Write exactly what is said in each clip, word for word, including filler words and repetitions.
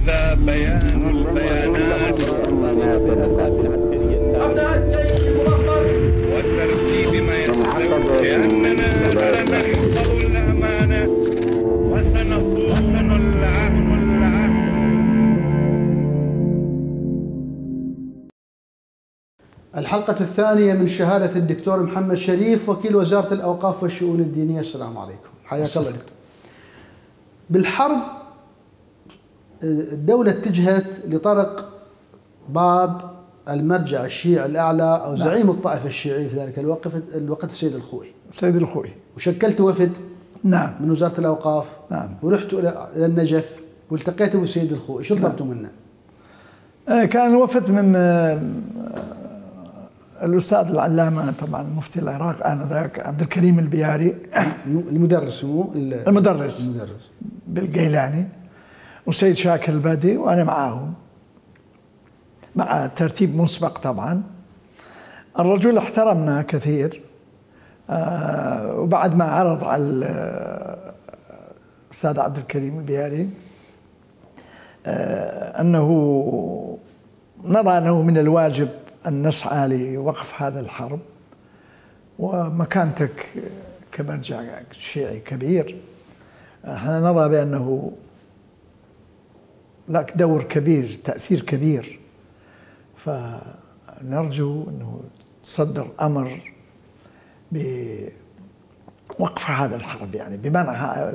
هذا بيان البيانات أبناء الجيش الموقر وترتيب ما يستوي لأننا لن نحفظ الأمانة وسنصون العهد العهد. الحلقة الثانية من شهادة الدكتور محمد شريف وكيل وزارة الأوقاف والشؤون الدينية. السلام عليكم، حياك الله دكتور. بالحرب الدولة اتجهت لطرق باب المرجع الشيعي الأعلى أو زعيم نعم. الطائفة الشيعية في ذلك الوقت الوقت السيد الخوئي. السيد الخوئي. وشكلت وفد نعم من وزارة الأوقاف. نعم. ورحتوا إلى النجف والتقيتوا بالسيد الخوئي، شو طلبتوا نعم. منه؟ كان وفد من الأستاذ العلامة طبعا مفتي العراق آنذاك عبد الكريم البياري المدرس مو المدرس المدرس بالجيلاني، والسيد شاكر البادي، وأنا معاهم مع ترتيب مسبق. طبعا الرجل احترمنا كثير، آه وبعد ما عرض على الأستاذ عبد الكريم البياري آه أنه نرى أنه من الواجب أن نسعى لوقف هذا الحرب، ومكانتك كمرجع شيعي كبير احنا نرى بأنه لك دور كبير، تأثير كبير، فنرجو أنه تصدر أمر بوقف هذا الحرب، يعني بمنع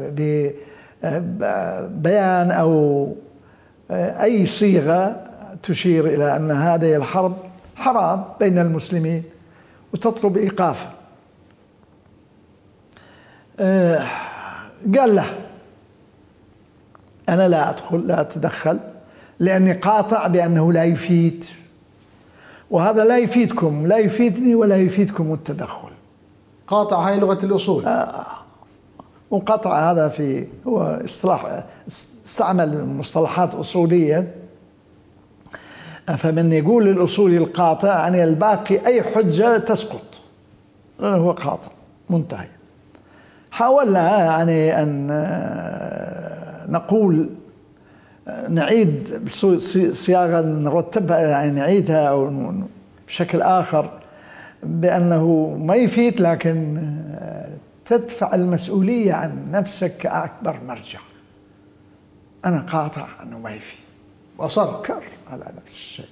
ببيان أو أي صيغة تشير إلى أن هذه الحرب حرام بين المسلمين وتطلب إيقافه. قال له أنا لا أدخل، لا أتدخل، لأني قاطع بأنه لا يفيد، وهذا لا يفيدكم، لا يفيدني ولا يفيدكم التدخل. قاطع هاي لغة الأصول. آه. وقطع هذا في هو اصطلاح، استعمل مصطلحات أصولية، فمن يقول الأصولي القاطع يعني الباقي أي حجة تسقط، هو قاطع منتهي. حاولنا يعني أن نقول نعيد صياغة نرتبها، يعني نعيدها أو بشكل آخر بأنه ما يفيد، لكن تدفع المسؤولية عن نفسك كأكبر مرجع. أنا قاطع أنه ما يفيد، وأصر كر على نفس الشيء.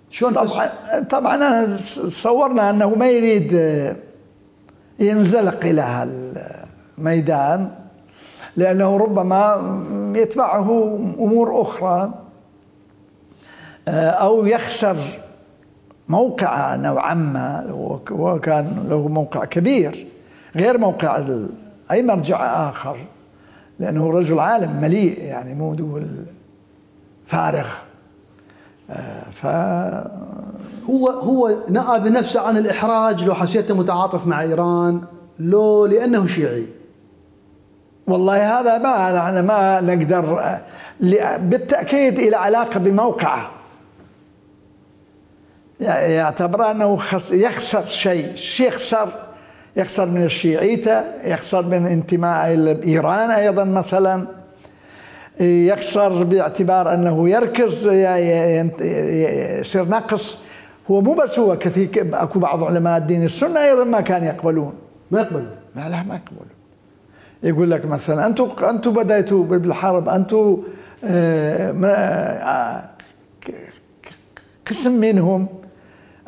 شلون طبعا طبعا صورنا أنه ما يريد ينزلق إلى هالميدان، لأنه ربما يتبعه أمور أخرى أو يخسر موقع نوعا ما، وكان له موقع كبير غير موقع أي مرجع آخر، لأنه رجل عالم مليء، يعني مو دول فارغ. ف هو هو نأى بنفسه عن الإحراج لو حسيته متعاطف مع إيران، لو لأنه شيعي. والله هذا ما أنا ما نقدر، بالتأكيد إلى علاقة بموقعه، يعتبر أنه يخسر شيء، يخسر يخسر من الشيعيته، يخسر من انتماء إلى إيران أيضا مثلا، يخسر باعتبار أنه يركز يصير نقص. هو مو بس هو، كثير أكو بعض علماء الدين السنة أيضا ما كان يقبلون، ما يقبلون لا لا ما يقبلون. يقول لك مثلا أنتم أنتم بدأتوا بالحرب، أنتم قسم منهم،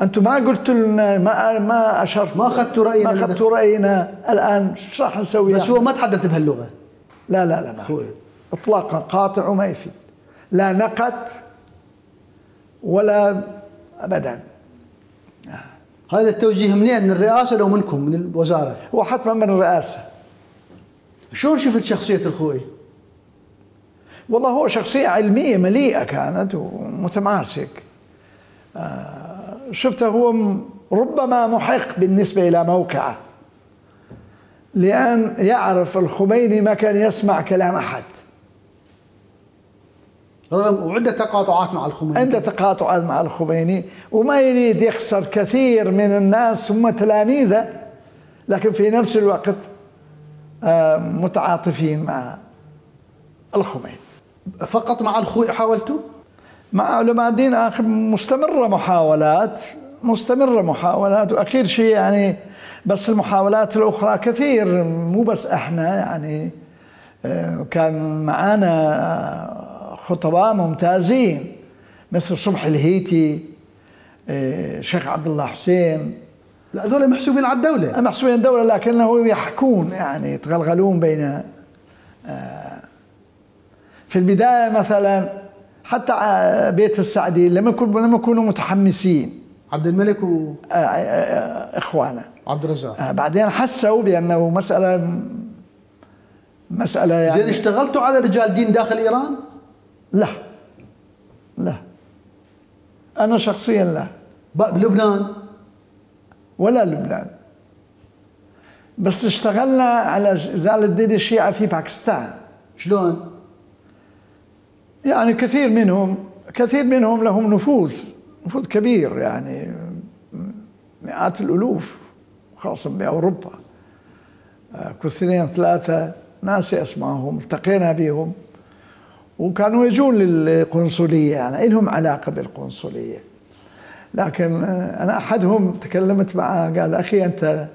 أنتم ما قلتوا لنا، ما ما أشرت، ما أخذتوا رأينا، ما أخذتوا رأينا، الآن شو راح نسوي؟ بس هو ما تحدث بهاللغة. لا لا لا ما إطلاقا، قاطع وما يفيد، لا نقد ولا أبدا. هذا التوجيه منين؟ من الرئاسة لو منكم من الوزارة؟ هو حتما من الرئاسة. شلون شفت شخصية الخوئي؟ والله هو شخصية علمية مليئة كانت ومتماسك. شفته هو ربما محق بالنسبة إلى موقعه، لأن يعرف الخميني ما كان يسمع كلام أحد، وعنده تقاطعات مع الخميني، عنده تقاطعات مع الخميني، وما يريد يخسر كثير من الناس هم تلاميذه، لكن في نفس الوقت متعاطفين مع الخميني. فقط مع الخوئ حاولتوا؟ مع علماء الدين آخر مستمرة محاولات مستمرة محاولات وأخير شيء يعني بس المحاولات الأخرى كثير، مو بس إحنا يعني كان معانا خطباء ممتازين مثل صبحي الهيتي، شيخ عبد الله حسين. لا هذول محسوبين على الدولة. محسوبين على الدولة لكنه يحكون يعني يتغلغلون بين في البداية مثلا حتى بيت السعدي لما يكونوا لما يكونوا متحمسين عبد الملك و اخوانه عبد الرزاق، بعدين حسوا بانه مساله مساله يعني زين. اشتغلتوا على رجال دين داخل ايران؟ لا لا انا شخصيا لا. بلبنان ولا لبنان، بس اشتغلنا على ازاله دين الشيعة في باكستان. شلون؟ يعني كثير منهم كثير منهم لهم نفوذ نفوذ كبير، يعني مئات الألوف خاصة بأوروبا. كثيرين ثلاثة ناس أسمائهم التقينا بهم وكانوا يجون للقنصلية، يعني لهم علاقة بالقنصلية. لكن أنا أحدهم تكلمت معه قال أخي أنت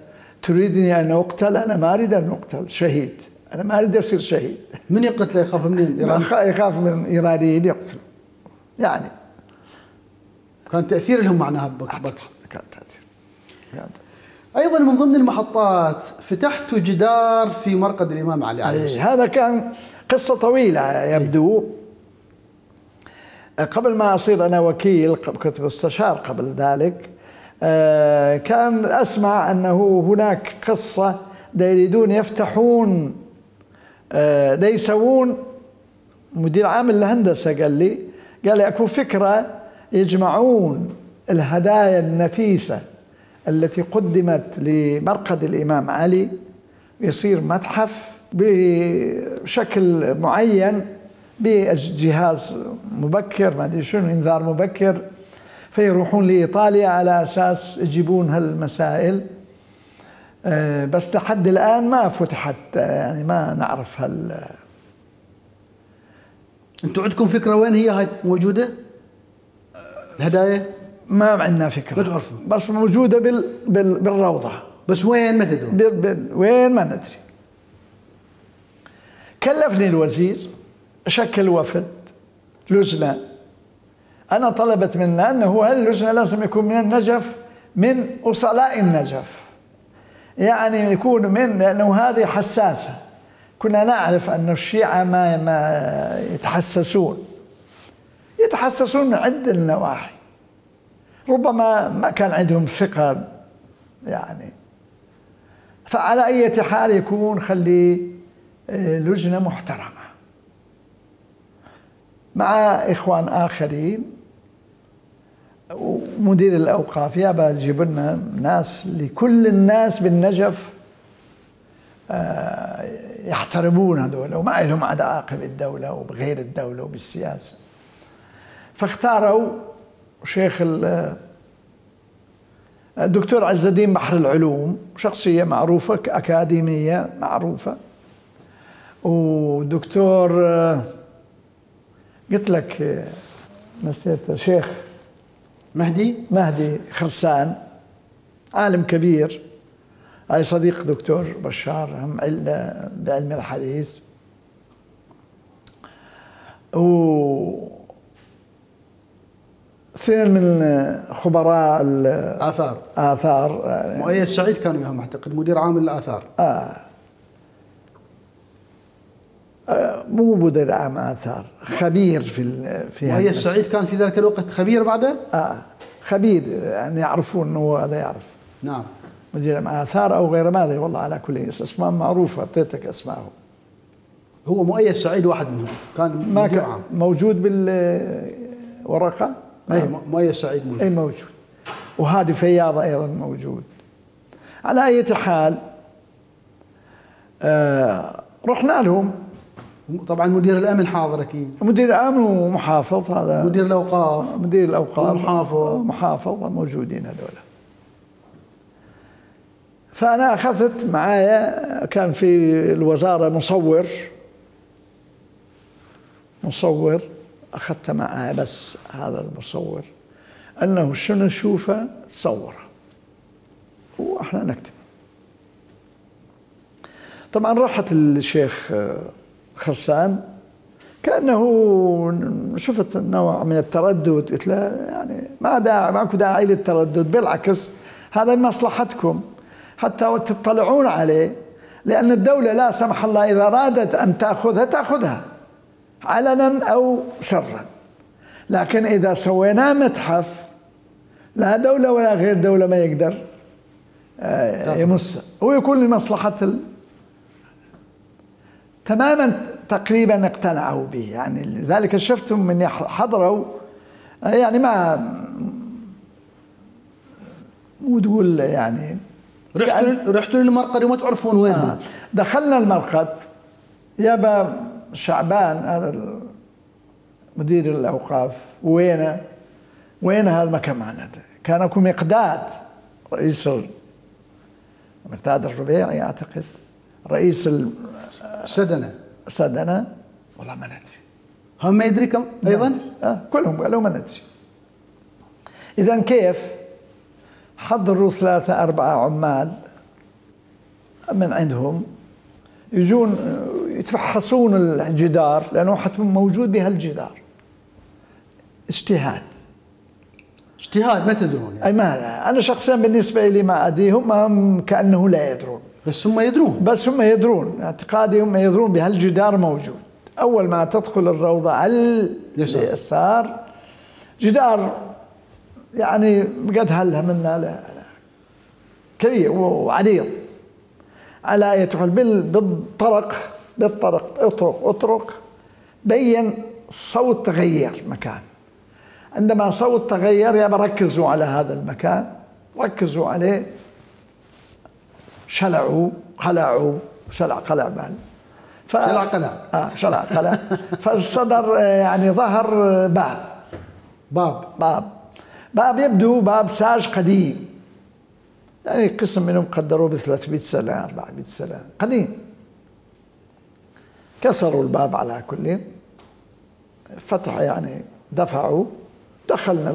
تريدني أن أقتل؟ أنا ما أريد أن أقتل، شهيد، أنا ما أريد أصير شهيد. من يقتله؟ يخاف منين؟ إيران يخاف من إيرانيين يقتلوا. يعني كان تأثير لهم معناها بكس. كان تأثير. كان أيضا من ضمن المحطات فتحتوا جدار في مرقد الإمام علي عليه السلام. هذا كان قصة طويلة يبدو. قبل ما أصير أنا وكيل كنت مستشار قبل ذلك، كان أسمع أنه هناك قصة دا يريدون يفتحون، دا يسوون. مدير عام الهندسة قال لي قال لي أكو فكرة يجمعون الهدايا النفيسة التي قدمت لمرقد الإمام علي يصير متحف بشكل معين بجهاز مبكر ما أدري شنو، إنذار مبكر، فيروحون لإيطاليا على أساس يجيبون هالمسائل. بس لحد الآن ما فتحت، يعني ما نعرف هال. أنتوا عندكم فكرة وين هي هاي موجودة؟ الهدايا؟ ما عندنا فكرة، ما تعرفوا، بس موجودة بال... بال... بالروضة، بس وين ما تدرون. بال... بال... وين ما ندري. كلفني الوزير شكل وفد لجنة، أنا طلبت منه أنه هاللجنة لازم يكون من النجف، من أصلاء النجف، يعني يكون من، لأنه هذه حساسة. كنا نعرف أن الشيعة ما ما يتحسسون يتحسسون من عدة النواحي، ربما ما كان عندهم ثقة يعني. فعلى أي حال يكون خلي لجنة محترمة مع إخوان آخرين، ومدير الأوقاف يابا تجيب لنا ناس لكل الناس بالنجف يحترمون هذول وما لهم علاقة بالدولة وبغير الدولة وبالسياسة. فاختاروا شيخ الدكتور عز الدين بحر العلوم، شخصية معروفة أكاديمية معروفة، ودكتور قلت لك نسيت، شيخ مهدي مهدي خرسان، عالم كبير، هاي صديق دكتور بشار هم بعلم الحديث. و اثنين من خبراء الآثار آثار مؤيد سعيد كان وياهم أعتقد مدير عام الآثار. آه. آه مو مدير عام آثار، خبير في في مؤيد سعيد كان في ذلك الوقت خبير بعده؟ آه خبير، يعني يعرفون أنه هذا يعرف. نعم. مدير عام آثار أو غير، ما أدري والله، على كل اسماء معروفة، أعطيتك أسمائهم. هو مؤيد سعيد واحد منهم كان ما مدير كان عام. موجود بالورقة؟ أي مؤيد سعيد موجود. أي موجود، وهادي فياض أيضا موجود. على أي حال آه رحنا لهم. طبعا مدير الأمن حاضر أكيد. مدير الأمن ومحافظ، هذا مدير الأوقاف مدير الأوقاف ومحافظ محافظ موجودين هذول. فأنا أخذت معايا، كان في الوزارة مصور مصور أخذته معي، بس هذا المصور أنه شنو نشوفه تصوره وإحنا نكتب. طبعا رحت الشيخ خرسان كأنه شفت نوع من التردد، قلت له يعني ما داعي، ماكو داعي للتردد، بالعكس هذا مصلحتكم حتى تطلعون عليه، لأن الدولة لا سمح الله إذا أرادت أن تأخذها تأخذها علنا أو سرا، لكن إذا سويناه متحف لا دولة ولا غير دولة ما يقدر يمس، ويكون لمصلحة ال... تماما تقريبا اقتنعوا به، يعني لذلك شفتم من حضروا يعني ما مو تقول يعني رحتوا رحتوا للمرقد وما تعرفون وين هو. دخلنا المرقد، يابا شعبان هذا مدير الأوقاف وينه؟ وين هذا المكان معنا؟ كان اكو مقداد رئيس مقداد الربيعي أعتقد رئيس السدنة سدنة، والله ما ندري، هم ما يدري كم أيضا؟ آه كلهم قالوا ما ندري. إذا كيف؟ حضروا ثلاثة أربعة عمال من عندهم يجون يتفحصون الجدار، لأنه حتى موجود بهالجدار. اجتهاد اجتهاد ما تدرون يعني. أي ما أنا شخصيا بالنسبة لي ما أدري، هم كأنه لا يدرون، بس هم يدرون بس هم يدرون، اعتقادي هم يدرون بهالجدار موجود. أول ما تدخل الروضة على اليسار جدار يعني قد هلها منا لا كبير وعريض، على أية حال بالطرق بالطرق اطرق اطرق بين صوت تغير مكان. عندما صوت تغير يابا ركزوا على هذا المكان، ركزوا عليه، شلعوا قلعوا شلع قلع بال ف... شلع قلع اه شلع قلع فالصدر يعني ظهر باب باب باب باب يبدو باب ساج قديم، يعني قسم منهم قدروه ب ثلاثمئة سنة أربعمئة سنة قديم. كسروا الباب على كل، فتح يعني دفعوا، دخلنا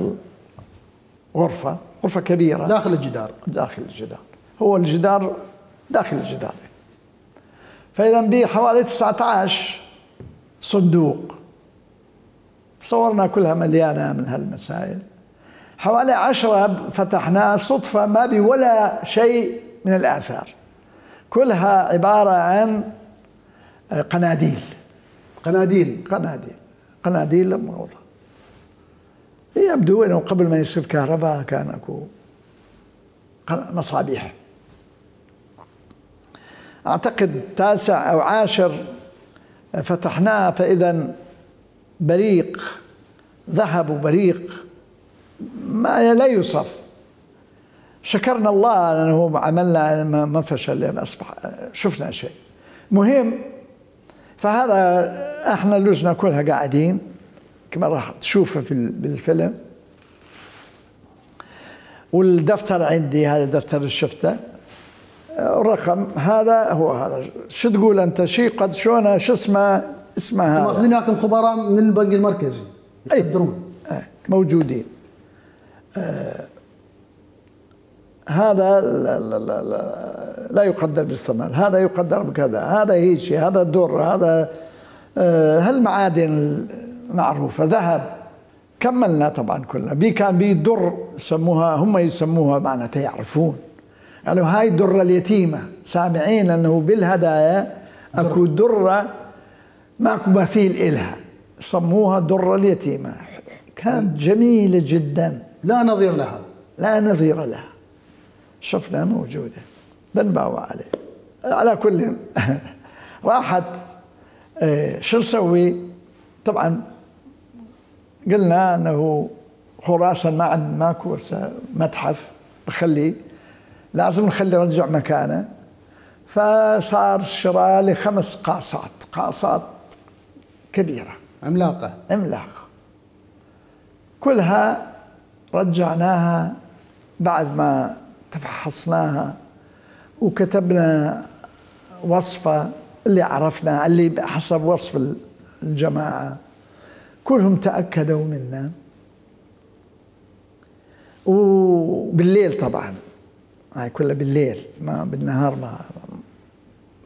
الغرفة، غرفة كبيرة داخل الجدار داخل الجدار هو الجدار داخل الجدار. فإذا به حوالي تسعة عشر صندوق، صورنا كلها مليانة من هالمسائل. حوالي عشرة فتحناها صدفة ما بي ولا شيء من الآثار، كلها عبارة عن قناديل قناديل قناديل قناديل موضة. يبدو أنه قبل ما يصير كهرباء كان أكو مصابيح. أعتقد تاسع أو عاشر فتحناه، فإذا بريق ذهب وبريق ما لا يوصف. شكرنا الله لأنه عملنا ما فشل، أصبح شفنا شيء مهم. فهذا احنا اللجنة كلها قاعدين كما راح تشوفه في بالفيلم، والدفتر عندي هذا دفتر الشفتة، الرقم هذا هو هذا. شو تقول أنت شيء قد شونا شو اسمه اسمه هذا؟ ماخذينكم خبراء من البنك المركزي يقدرون أي موجودين. آه هذا لا, لا, لا, لا, لا يقدر بالثمن، هذا يقدر بكذا، هذا هيك شيء، هذا الدر، هذا آه هالمعادن معروفة، ذهب. كملنا طبعا كلنا بي كان بي در يسموها، هم يسموها معناتها يعرفون، يعني هاي الدرة اليتيمة، سامعين أنه بالهدايا أكو درة ماكو مثيل إلها، سموها الدرة اليتيمة. كانت جميلة جدا لا نظير لها لا نظير لها. شفنا موجودة بنباوع عليه. على كل راحت اه شو نسوي؟ طبعا قلنا أنه خراسان ما عند ماكو متحف بخليه، لازم نخلي رجع مكانه. فصار شراء لخمس قاصات، قاصات كبيرة عملاقة عملاقة، كلها رجعناها بعد ما تفحصناها وكتبنا وصفة اللي عرفنا اللي حسب وصف الجماعة كلهم تأكدوا منا. وبالليل طبعا، هاي كلها بالليل، ما بالنهار ما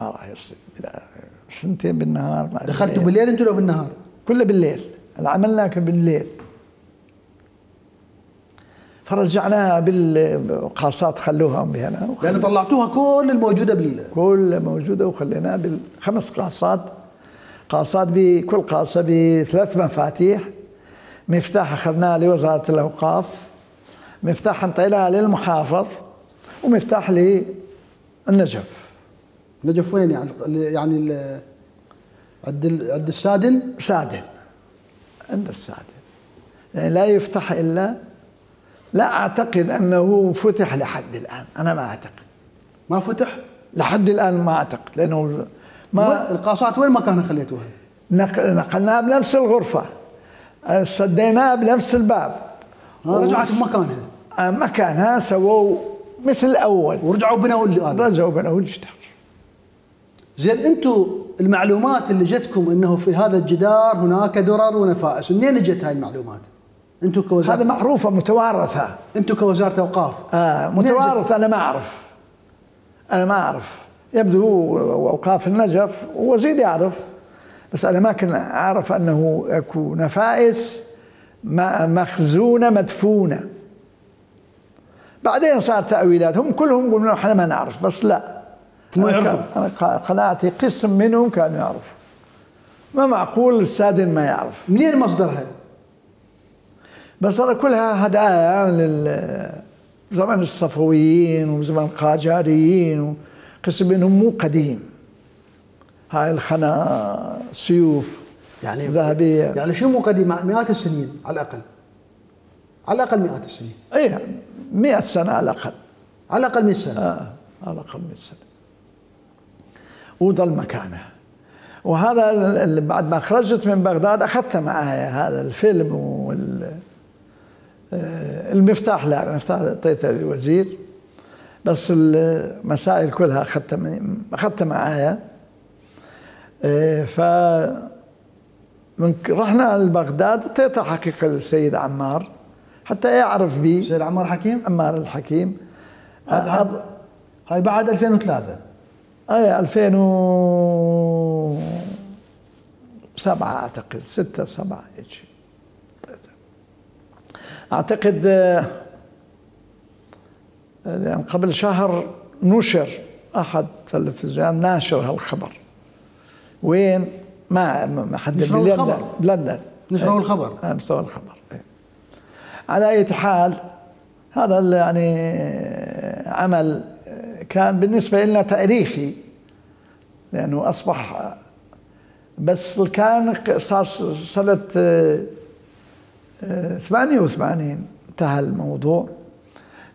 ما راح يصير. سنتين بالنهار ما دخلتوا بالليل انتوا لو بالنهار؟ كله بالليل، العمل كان بالليل. فرجعناها بالقاصات، خلوها بهنا، لأن طلعتوها كل الموجودة بال كل موجودة وخليناها بالخمس قاصات. قاصات بكل قاصة بثلاث مفاتيح. مفتاح أخذناه لوزارة الأوقاف، مفتاح انطيناه للمحافظ، ومفتاح للنجف. نجف وين يعني؟ يعني ال- عند ال- عند السادن؟ سادن، عند السادن. يعني لا يفتح إلا، لا أعتقد أنه فتح لحد الآن، أنا ما أعتقد. ما فتح؟ لحد الآن ما أعتقد، لأنه ما القاصات وين مكانها خليتوها؟ نقلناها بنفس الغرفة، صديناها بنفس الباب. ها رجعت بمكانها؟ مكانها، سووا مثل الأول ورجعوا بنوا اللي هذا. رجعوا بنوا الجدار. زين انتم المعلومات اللي جتكم انه في هذا الجدار هناك درر ونفائس، منين اجت هاي المعلومات؟ انتم كوزاره، هذا معروفة متوارثة. انتم كوزاره اوقاف آه متوارثة. أنا ما أعرف، أنا ما أعرف، يبدو هو أوقاف النجف ووزير يعرف، بس أنا ما كنت أعرف أنه أكو نفائس مخزونة مدفونة. بعدين صار تأويلات، هم كلهم يقولون احنا ما نعرف، بس لا، ما يعرفوا. أنا قناعتي قسم منهم كانوا يعرفوا. ما معقول السادن ما يعرف. منين مصدرها؟ بس ترى كلها هدايا لزمن الصفويين وزمن القاجاريين، وقسم منهم مو قديم. هاي الخنا سيوف يعني ذهبية. يعني شو مو قديم؟ مئات السنين على الأقل، على الأقل مئات السنين. ايه مئة سنة على الأقل، على الأقل مئة سنة. آه على الأقل مئة سنة. وضل مكانه. وهذا اللي بعد ما خرجت من بغداد أخذت معي هذا الفيلم وال المفتاح، لا المفتاح اعطيته للوزير، بس المسائل كلها أخذتها أخذتها معايا. ف من رحنا لبغداد اعطيتها حقيقة للسيد عمار حتى يعرف بي. السيد عمار حكيم؟ عمار الحكيم. هذا هاي بعد ألفين وثلاثة. اي ألفين وسبعة اعتقد، ستة سبعة هيك اعتقد. يعني قبل شهر نشر احد تلفزيون ناشر هالخبر. وين؟ ما ما حد بلندن. بلندن نشروا الخبر. نشروا الخبر. على اي حال هذا يعني عمل كان بالنسبة لنا تاريخي، لأنه أصبح، بس كان صار سنة ثمانية وثمانين انتهى الموضوع،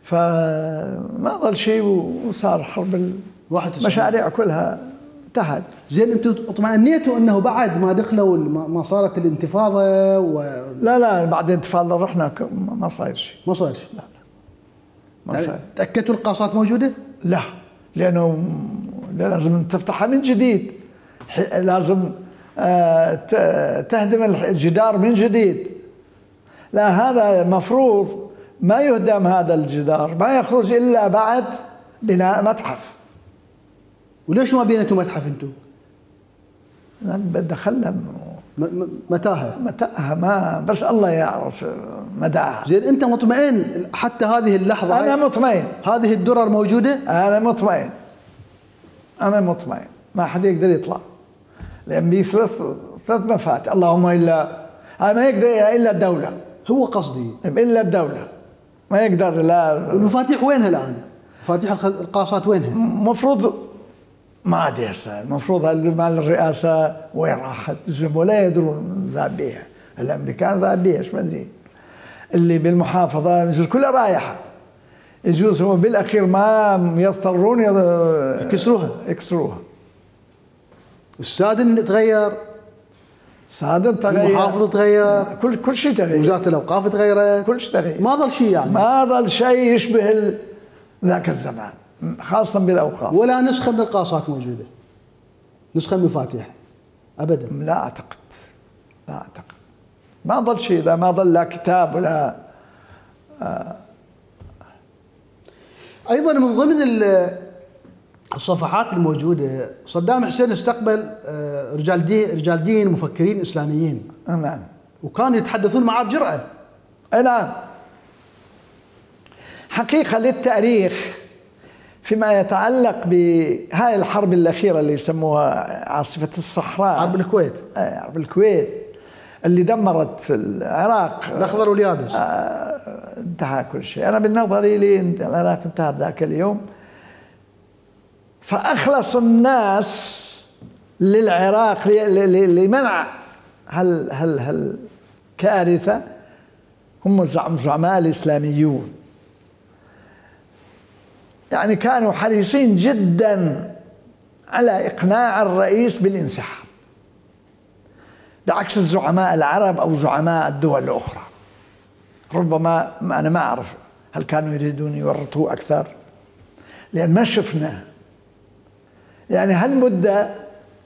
فما ظل شيء وصار حرب المشاريع كلها انتهت. زين انتم اطمئنيتوا انه بعد ما دخلوا ما صارت الانتفاضة و... لا لا بعد الانتفاضة رحنا ما صاير شيء. ما صاير شيء؟ لا ما يعني صاير. تأكدتوا القاصات موجودة؟ لا، لأنه لازم تفتحها من جديد، لازم تهدم الجدار من جديد. لا، هذا مفروض ما يهدم هذا الجدار، ما يخرج إلا بعد بناء متحف. وليش ما بنيتوا متحف انتم؟ دخلنا متاهة. متاهة ما بس الله يعرف مداها. زين انت مطمئن حتى هذه اللحظة؟ أنا مطمئن. هذه الدرر موجودة؟ أنا مطمئن، أنا مطمئن ما حد يقدر يطلع، لأن بي ثلاث ثلاث مفاتيح. اللهم إلا ما يقدر إلا الدولة. هو قصدي إلا الدولة ما يقدر. لا، المفاتيح وينها الآن؟ مفاتيح القاصات وينها؟ مفروض ما ادري هسه، المفروض مال الرئاسه وين راحت؟ ولا يدرون ذهب بيها، الامريكان ذهب بيها ايش ما ادري. اللي بالمحافظه يجوز كلها رايحه، يجوز هم بالاخير ما يضطرون يكسروها يكسروها. السادن تغير، السادن تغير، المحافظه تغير، كل كل شيء تغير، وزاره الاوقاف تغيرت، كل شيء تغير، ما ظل شيء يعني، ما ظل شيء يشبه ذاك الزمان خاصة بالأوقاف. ولا نسخة من القاصات موجودة، نسخة من المفاتيح أبدا. لا أعتقد، لا أعتقد. ما ظل شيء، إذا ما ظل لا كتاب ولا آه. ايضا من ضمن الصفحات الموجوده صدام حسين استقبل رجال دين رجال دين مفكرين اسلاميين. نعم. وكانوا يتحدثون معه بجرأة. اي نعم. حقيقة للتاريخ فيما يتعلق بهاي الحرب الأخيرة اللي يسموها عاصفة الصحراء، حرب الكويت. اي حرب الكويت اللي دمرت العراق الأخضر واليابس. آه انتهى كل شيء. أنا بالنظر لي العراق انتهى ذاك اليوم. فأخلص الناس للعراق لمنع هال هال هالكارثة هم الزعماء الإسلاميون. يعني كانوا حريصين جدا على إقناع الرئيس بالانسحاب، بعكس الزعماء العرب أو زعماء الدول الأخرى. ربما أنا ما أعرف هل كانوا يريدون يورطوه أكثر، لأن ما شفنا يعني هالمدة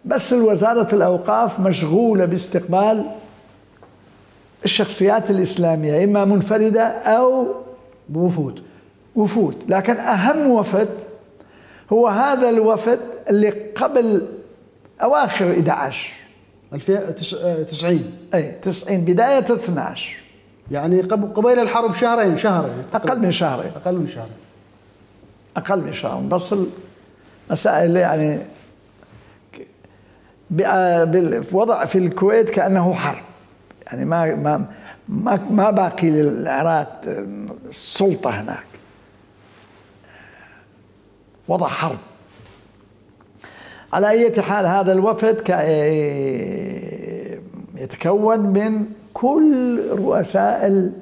بس الوزارة الأوقاف مشغولة باستقبال الشخصيات الإسلامية إما منفردة أو بوفود وفود. لكن أهم وفد هو هذا الوفد اللي قبل أواخر إحدى عشر تسعين أي تسعين بداية اثني عشر، يعني قبيل الحرب شهرين شهرين أقل من شهرين أقل من شهرين أقل من شهر. بس المسائل يعني بوضع في الكويت كأنه حرب، يعني ما ما ما ما باقي للعراق السلطة هناك، وضع حرب. على أي حال هذا الوفد يتكون من كل رؤساء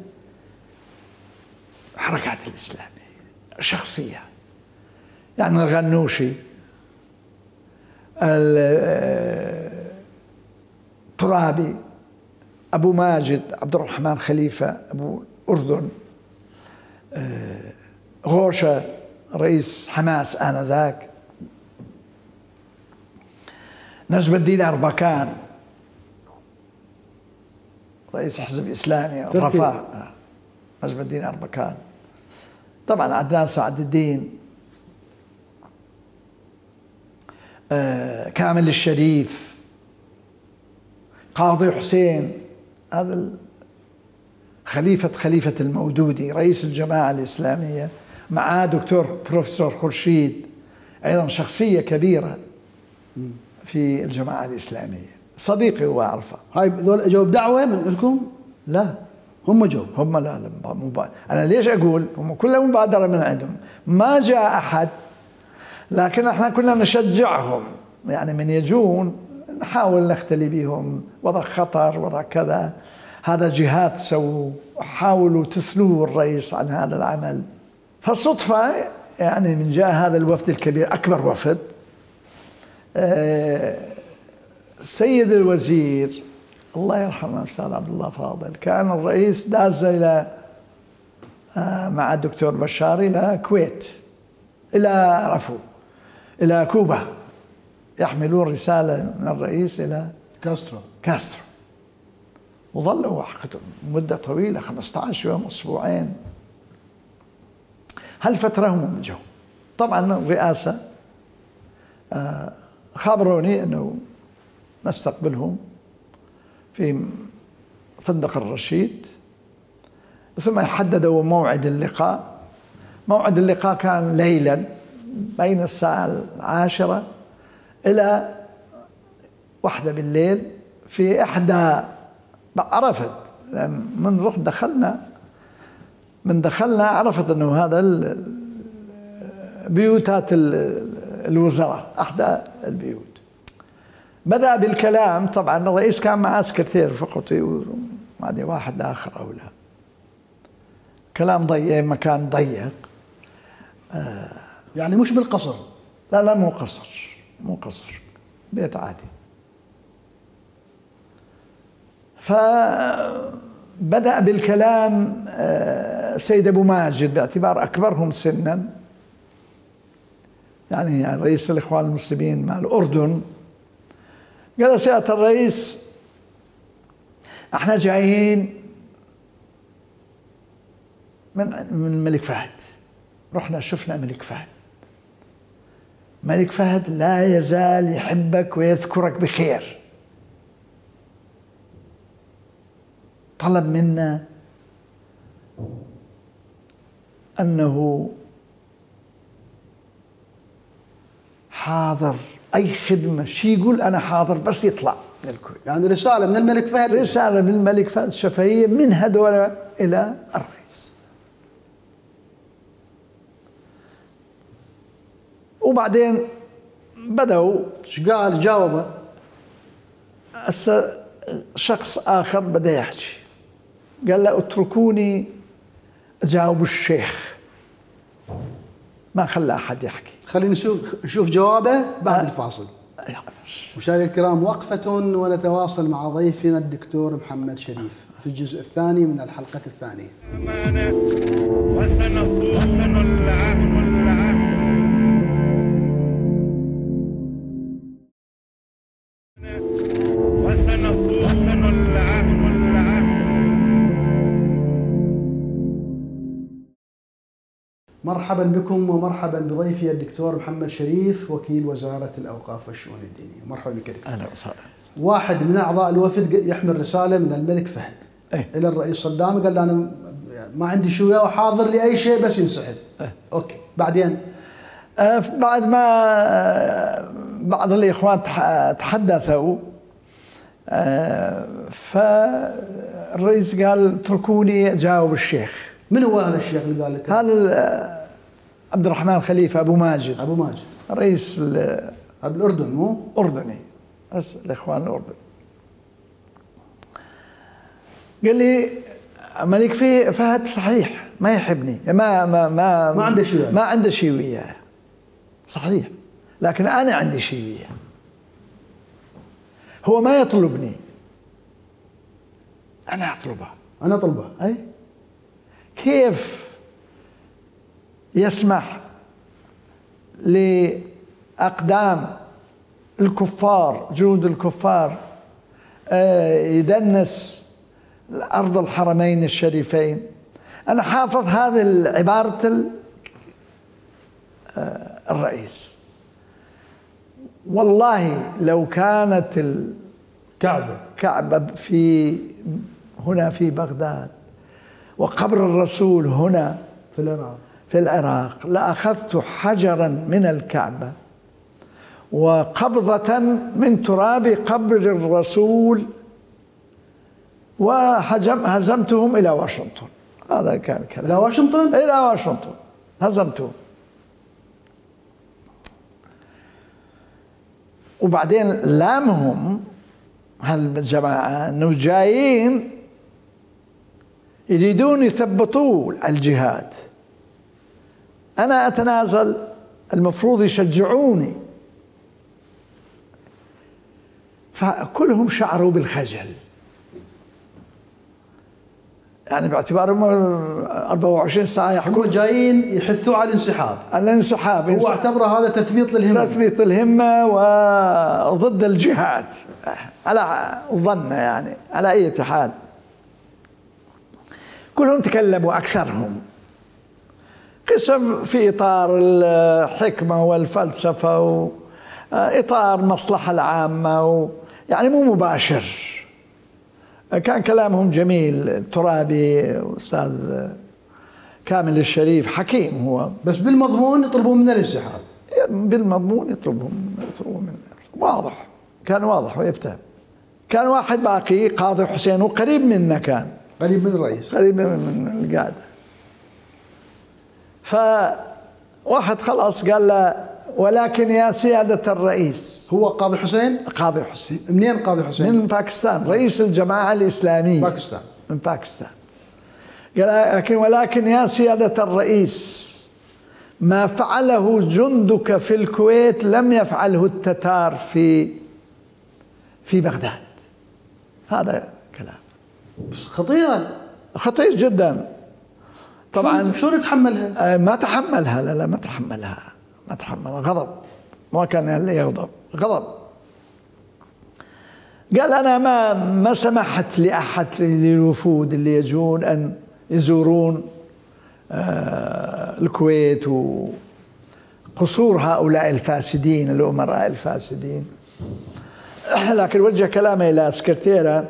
الحركات الإسلامية شخصية، يعني الغنوشي، الترابي، أبو ماجد، عبد الرحمن خليفة أبو الأردن، غوشة رئيس حماس آنذاك، نجم الدين أربكان رئيس حزب إسلامي الرفاه، نجم الدين أربكان، طبعا عدنان سعد الدين، آه، كامل الشريف، قاضي حسين، هذا خليفة خليفة المودودي رئيس الجماعة الإسلامية، معاه دكتور بروفيسور خورشيد أيضا شخصية كبيرة في الجماعة الإسلامية، صديقي وأعرفه. هاي ذول اجوا بدعوة من عندكم؟ لا هم جو هم لا لا مبا... أنا ليش أقول هم كلها مبادرة من عندهم، ما جاء أحد، لكن احنا كنا نشجعهم، يعني من يجون نحاول نختلي بهم، وضع خطر وضع كذا، هذا جهات سووا، حاولوا تثلوا الرئيس عن هذا العمل. فصدفة يعني من جاء هذا الوفد الكبير، أكبر وفد، السيد الوزير الله يرحمه الأستاذ عبد الله فاضل، كان الرئيس داز إلى مع الدكتور بشار إلى الكويت، إلى عفوا إلى كوبا، يحملون رسالة من الرئيس إلى كاسترو كاسترو وظلوا مدة طويلة خمسة عشر يوم أسبوعين. هالفترة هم جو. طبعا الرئاسة خبروني أنه نستقبلهم في فندق الرشيد، ثم حددوا موعد اللقاء. موعد اللقاء كان ليلا بين الساعة العاشرة إلى واحدة بالليل في إحدى، عرفت لأن من رحت دخلنا من دخلنا عرفت أنه هذا بيوتات الوزراء، أحدى البيوت. بدأ بالكلام، طبعا الرئيس كان معه سكرتير فقطي ومعدي واحد آخر أو لا، كلام ضيق، مكان ضيق، آه يعني مش بالقصر؟ لا لا مو قصر، مو قصر، بيت عادي. فبدأ بالكلام سيد أبو ماجد باعتبار أكبرهم سنا، يعني رئيس الإخوان المسلمين مع الأردن. قال سيادة الرئيس احنا جايين من من الملك فهد، رحنا شفنا الملك فهد. ملك فهد لا يزال يحبك ويذكرك بخير. طلب منا أنه حاضر أي خدمة، شي يقول أنا حاضر بس يطلع من الكويت. يعني رسالة من الملك فهد، رسالة من الملك فهد الشفهية من هذول إلى الرئيس. وبعدين بدأوا ايش قال؟ جاوبه. هسه شخص آخر بدأ يحكي، قال له اتركوني أجاوب الشيخ، ما خلى أحد يحكي. خلينا نشوف نشوف جوابه بعد أه. الفاصل. مشاهدينا الكرام، وقفة ونتواصل مع ضيفنا الدكتور محمد شريف في الجزء الثاني من الحلقة الثانية. وسنصون العهد العهد وسنصون العهد العهد. مرحبا بكم ومرحبا بضيفي الدكتور محمد شريف وكيل وزارة الأوقاف والشؤون الدينية. مرحبا بك دكتور. أهلا وسهلا. واحد من أعضاء الوفد يحمل رسالة من الملك فهد إيه؟ إلى الرئيس صدام، قال أنا ما عندي شو وياه وحاضر لأي شيء بس ينسحب. إيه؟ أوكي، بعدين آه بعد ما آه بعض الإخوان تحدثوا آه فالرئيس قال اتركوني أجاوب الشيخ. من هو هذا الشيخ اللي قال لك؟ هذا عبد الرحمن خليفة أبو ماجد، أبو ماجد رئيس أبو الأردن، مو؟ أردني، بس الإخوان الأردن. قال لي ملك في فهد صحيح ما يحبني، ما ما ما ما عنده شيء، ما عنده شيء وياه، صحيح، لكن أنا عندي شيء وياه. هو ما يطلبني، أنا أطلبه. أنا أطلبه. أي كيف يسمح لأقدام الكفار جنود الكفار يدنس أرض الحرمين الشريفين؟ أنا حافظ هذه عبارة الرئيس. والله لو كانت الكعبة كعبة في هنا في بغداد وقبر الرسول هنا في العراق في العراق لأخذت حجرا من الكعبة وقبضة من تراب قبر الرسول وهزمتهم إلى واشنطن. هذا كان كلام. إلى واشنطن؟ إلى واشنطن هزمتهم. وبعدين لامهم هالجماعة أنه جايين يريدون يثبطوا الجهاد، أنا أتنازل، المفروض يشجعوني. فكلهم شعروا بالخجل، يعني باعتبارهم أربعة وعشرين ساعة يحكوا، هم جايين يحثوا على الانسحاب. الانسحاب هو اعتبره هذا تثبيط للهمة، تثبيط الهمة وضد الجهاد على ظن، يعني على أي حال. كلهم تكلموا أكثرهم قسم في إطار الحكمة والفلسفة وإطار المصلحة العامة، يعني مو مباشر. كان كلامهم جميل. الترابي أستاذ كامل الشريف حكيم هو، بس بالمضمون يطلبون من الانسحاب. بالمضمون يطلبهم يطلبون من واضح، كان واضح ويفتهم. كان واحد باقي قاضي حسين وقريب منا، كان قريب من الرئيس، قريب من القاعدة. فواحد خلاص قال له ولكن يا سيادة الرئيس. هو قاضي حسين؟ قاضي حسين. منين قاضي حسين؟ من باكستان، رئيس الجماعة الإسلامية. باكستان. من باكستان. قال لكن ولكن يا سيادة الرئيس، ما فعله جندك في الكويت لم يفعله التتار في في بغداد. هذا كلام بس خطيرة، خطير جدا. طبعا شو نتحملها؟ ما تحملها، لا لا ما تحملها، ما تحملها. غضب، ما كان يغضب، غضب. قال أنا ما ما سمحت لأحد للوفود اللي يجون أن يزورون الكويت وقصور هؤلاء الفاسدين الأمراء الفاسدين، لكن وجه كلامه إلى سكرتيرة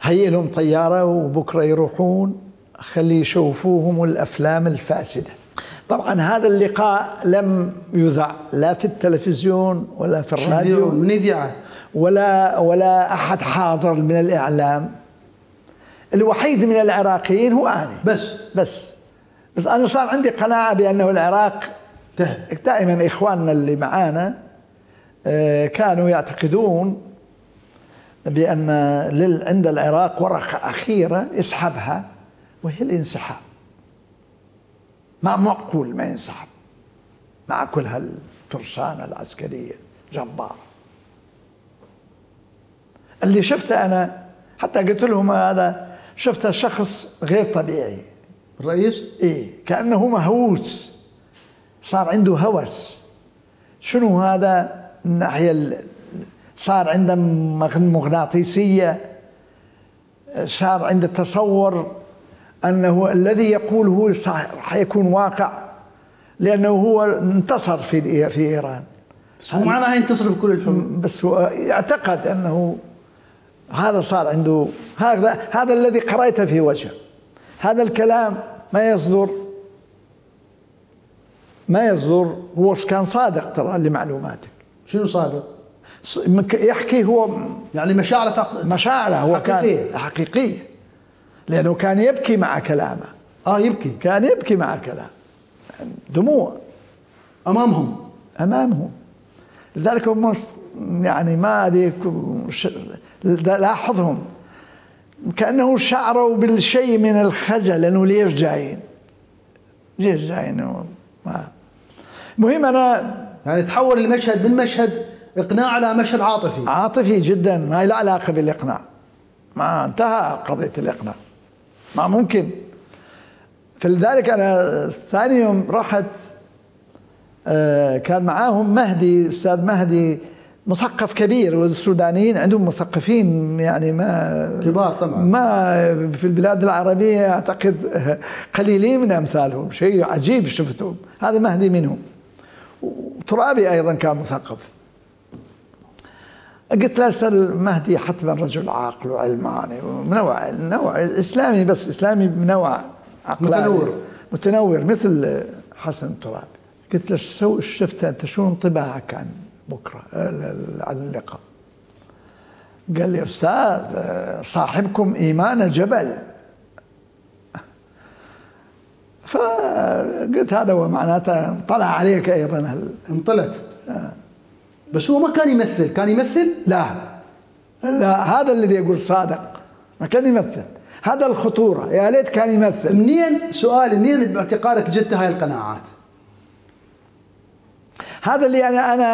هيئ لهم طيارة وبكرة يروحون خلي يشوفوهم الأفلام الفاسدة. طبعا هذا اللقاء لم يذع لا في التلفزيون ولا في الراديو من إذاعة ولا ولا أحد حاضر من الإعلام. الوحيد من العراقيين هو أنا بس بس بس أنا صار عندي قناعة بأنه العراق دائما إخواننا اللي معانا كانوا يعتقدون بأن عند العراق ورقة أخيرة يسحبها وهي الانسحاب. ما معقول ما ينسحب مع كل هالترسانة العسكرية جبارة. اللي شفته أنا حتى قلت لهم هذا شفته شخص غير طبيعي. الرئيس؟ إيه كأنه مهووس، صار عنده هوس. شنو هذا الناحية؟ صار عنده مغناطيسية، صار عنده تصور أنه الذي يقول هو حيكون واقع، لأنه هو انتصر في في إيران. بس هو معناها ينتصر بكل الحروب، بس هو يعتقد أنه هذا صار عنده. هذا هذا الذي قرأته في وجهه. هذا الكلام ما يصدر ما يصدر هو كان صادق ترى لمعلوماتك. شنو صادق؟ يحكي هو يعني مشاعره مشاعره هو حقيقية. كان حقيقية، لأنه كان يبكي مع كلامه. اه يبكي، كان يبكي مع كلامه، دموع امامهم امامهم. لذلك هم يعني ما ادري لاحظهم كأنه شعروا بالشيء من الخجل، لأنه ليش جايين؟ ليش جايين؟ مهم أنا يعني تحول المشهد من مشهد إقناع إلى مشهد عاطفي عاطفي جدا، ما له علاقة بالإقناع. ما انتهى قضية الإقناع، ما ممكن. فلذلك أنا ثاني يوم رحت، كان معاهم مهدي، أستاذ مهدي مثقف كبير، والسودانيين عندهم مثقفين يعني ما كبار طبعا، ما في البلاد العربية أعتقد قليلين من أمثالهم، شيء عجيب شفتهم. هذا مهدي منهم، وترابي أيضا كان مثقف. قلت له أستاذ مهدي حتما رجل عاقل وعلماني ونوع نوع إسلامي، بس إسلامي بنوع عقلاني متنور متنور مثل حسن الترابي. قلت له شو شفت أنت، شو انطباعك عن بكرة عن اللقاء؟ قال لي أستاذ صاحبكم إيمان جبل. فقلت هذا هو معناته طلع عليك أيضا هل انطلت. آه. بس هو ما كان يمثل، كان يمثل؟ لا لا، هذا الذي يقول صادق، ما كان يمثل. هذا الخطورة، يا ليت كان يمثل. منين سؤال منين باعتقادك جدت هاي القناعات؟ هذا اللي أنا أنا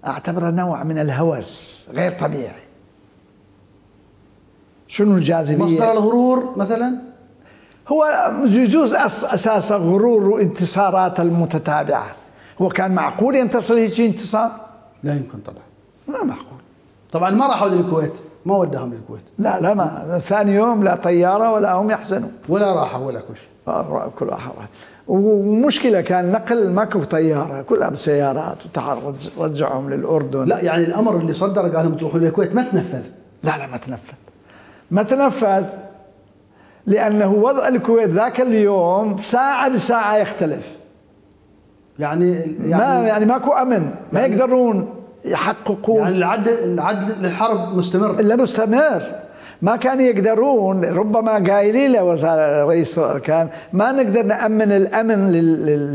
أعتبره نوع من الهوس غير طبيعي. شنو الجاذبية؟ مصدر الغرور مثلا؟ هو يجوز أساس غرور وانتصارات المتتابعة. هو كان معقول ينتصر هيك انتصار؟ لا يمكن طبعا، ما معقول. طبعا ما راحوا للكويت، ما وداهم للكويت. لا لا، ما ثاني يوم لا طيارة ولا هم يحزنوا، ولا راحوا ولا كل شيء. كل واحد. ومشكلة كان نقل ماكو طيارة، كلها بسيارات، ورجعهم للأردن. لا يعني الأمر اللي صدر قال لهم تروحوا للكويت ما تنفذ. لا لا ما تنفذ، ما تنفذ لأنه وضع الكويت ذاك اليوم ساعة بساعة يختلف. يعني يعني ما يعني ماكو أمن، ما يعني يقدرون يحققون. يعني العد العد للحرب مستمر. إلا مستمر، ما كانوا يقدرون. ربما قايلين له وزارة رئيس الأركان ما نقدر نأمن الأمن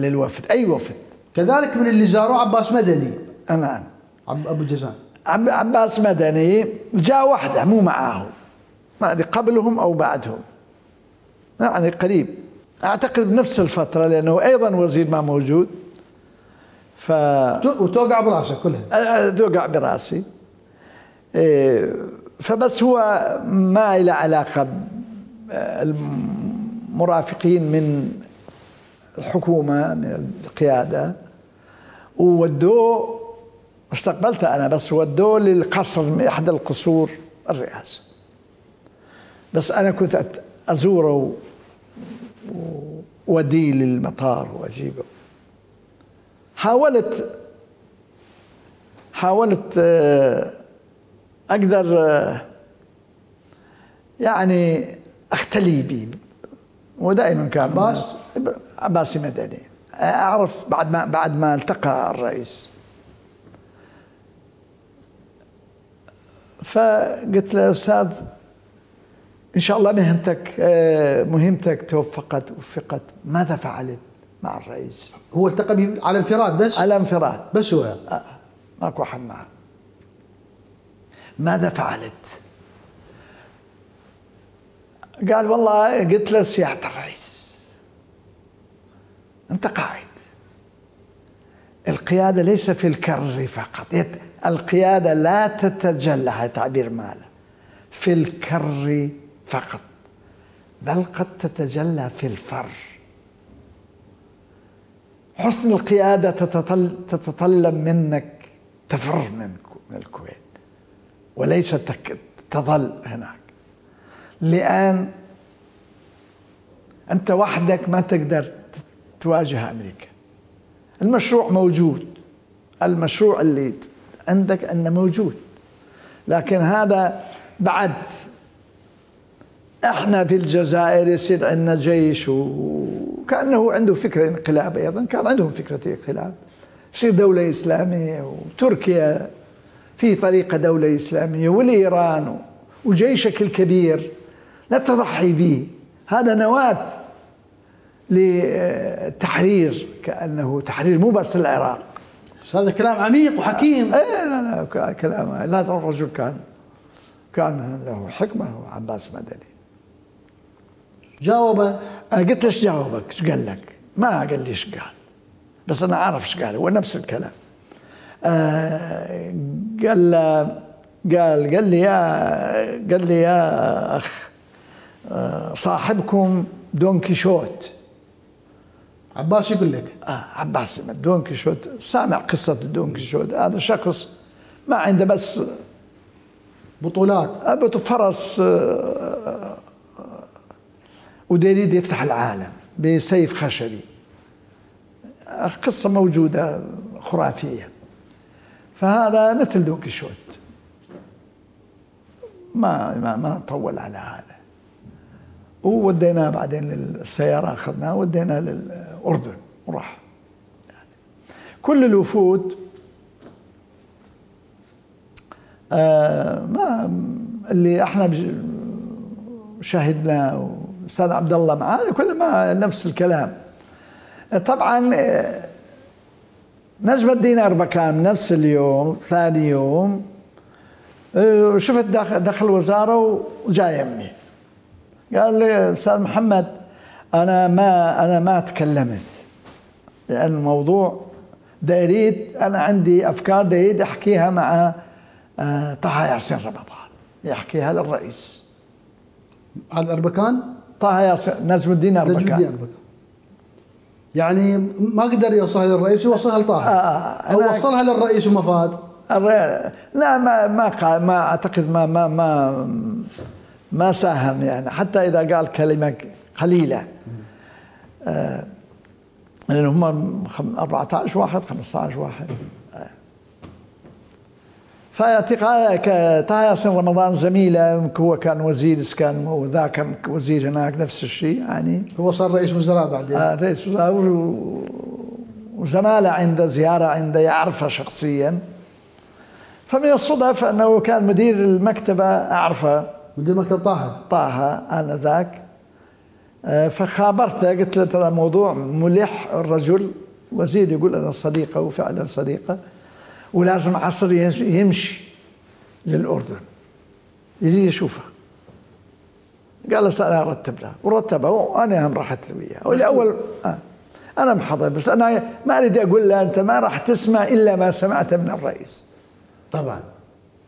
للوفد، أي وفد. كذلك من اللي زاروه عباس مدني. نعم، أبو جزان. عباس مدني جاء وحده مو معاهم، ما أدري قبلهم أو بعدهم، يعني قريب أعتقد بنفس الفترة، لأنه أيضا وزير ما موجود. ف وتوقع براسه كلها. توقع براسي. فبس هو ما له علاقة المرافقين من الحكومة من القيادة، وودوه استقبلته أنا، بس ودوه للقصر من إحدى القصور الرئاسة، بس أنا كنت أزوره ووديه للمطار وأجيبه. حاولت حاولت أقدر يعني أختلي به، ودائما كان عباس عباسي مدني. أعرف بعد ما بعد ما التقى الرئيس، فقلت له يا أستاذ إن شاء الله مهنتك مهمتك توفقت وفقت، ماذا فعلت مع الرئيس؟ هو التقى به على انفراد بس؟ على انفراد بس هو آه. ماكو أحد معه. ماذا فعلت؟ قال والله قلت له سيادة الرئيس أنت قائد، القيادة ليس في الكر فقط، القيادة لا تتجلى، هذا تعبير ماله، في الكر فقط، بل قد تتجلى في الفر. حسن القيادة تتطلب منك تفر من الكويت وليس تظل هناك، لأن أنت وحدك ما تقدر تواجه أمريكا. المشروع موجود، المشروع اللي عندك أنه موجود، لكن هذا بعد احنا في الجزائر يصير عندنا جيش وكأنه عنده فكرة انقلاب، أيضا كان عندهم فكرة انقلاب، يصير دولة إسلامية، وتركيا في طريقة دولة إسلامية، والإيران وجيشك الكبير لا تضحي به، هذا نواة لتحرير، كأنه تحرير مو بس العراق. هذا كلام عميق وحكيم. ايه لا لا كلام، لا الرجل كان كان له حكمة، عباس مدني. جاوبه؟ أنا قلت له ايش جاوبك؟ ايش قال لك؟ ما قال لي ايش قال، بس أنا أعرف ايش قال، هو نفس الكلام. آه قال قال قال لي يا قال لي يا أخ آه صاحبكم دون كيشوت. عباس يقول لك؟ آه عباس دون كيشوت، سامع قصة دون كيشوت، هذا شخص ما عنده بس بطولات، أبو فرس آه وديريد يفتح العالم بسيف خشبي، قصة موجودة خرافية. فهذا مثل دون كيشوت، ما ما ما طول على هذا، ووديناه بعدين للسيارة، أخذناه وديناه للأردن وراح. يعني كل الوفود آه ما اللي احنا شاهدنا، أستاذ عبد الله معاه، كل ما نفس الكلام. طبعا نجم الدين أربكان نفس اليوم ثاني يوم شفت داخل دخل الوزارة وجاي يمي، قال لي أستاذ محمد أنا ما أنا ما تكلمت، لأن الموضوع دا أريد، أنا عندي أفكار دا أريد أحكيها مع طه ياسين رمضان، يحكيها للرئيس. هذا أربكان؟ طه ياسين نجم الدين أربكان. نجم الدين أربكان يعني ما قدر يوصلها للرئيس ويوصلها لطه. آه أو وصلها للرئيس وما فاد. لا ما ما قال، ما أعتقد ما ما ما ما ساهم يعني، حتى إذا قال كلمة قليلة آه لأن هم أربعة عشر واحد خمسة عشر واحد. آه. فاعتقاد طه ياسين رمضان زميله، هو كان وزير إسكان وذاك كان وزير هناك نفس الشيء يعني، هو صار رئيس وزراء بعدين. آه رئيس وزراء، وزماله عنده زيارة عنده يعرفه شخصيا. فمن الصدف أنه كان مدير المكتبة أعرفه، مدير مكتب طه طه آنذاك. فخابرته قلت له ترى الموضوع ملح، الرجل وزير يقول أنا صديقه وفعلا صديقه، ولازم عصر يمشي للأردن يجي يشوفه. قال له أنا أرتب له، ورتبه وأنا هم رحت وياه. والأول آه أنا محضر، بس أنا ما أريد أقول له أنت ما راح تسمع إلا ما سمعته من الرئيس. طبعا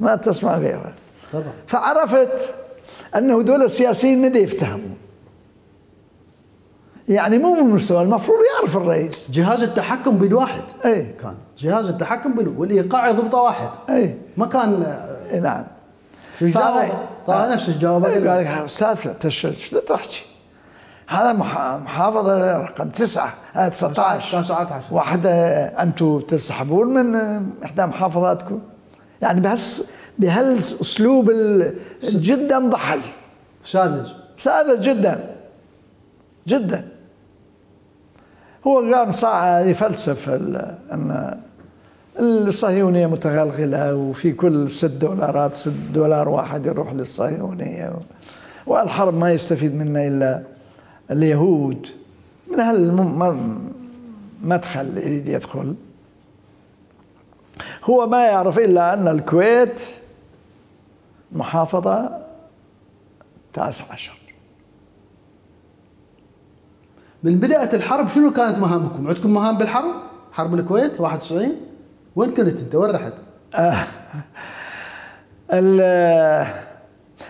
ما تسمع غيره. طبعا. فعرفت أنه دول السياسيين ما يفتهموا، يعني مو من مستوى، المفروض يعرف الرئيس. جهاز التحكم بيد واحد. اي كان جهاز التحكم بيد، والايقاع يضبطه واحد. اي ما كان. اي نعم. شو جاوب؟ طلع نفس الجواب. قال لك استاذ ايش تحكي؟ هذا محافظه رقم تسعه تسعة عشر واحده، انتم تسحبون من احدى محافظاتكم، يعني بهس بهالاسلوب جدا ضحل، ساذج ساذج جدا جدا. هو قام ساعه يفلسف ان الصهيونيه متغلغله، وفي كل ست دولارات ست دولار واحد يروح للصهيونيه، والحرب ما يستفيد منها الا اليهود. من هالمدخل يريد يدخل. هو ما يعرف الا ان الكويت محافظه تاسع عشر. من بدايه الحرب شنو كانت مهامكم؟ عندكم مهام بالحرب؟ حرب الكويت واحد وتسعين؟ وين كنت انت؟ وين رحت؟ آه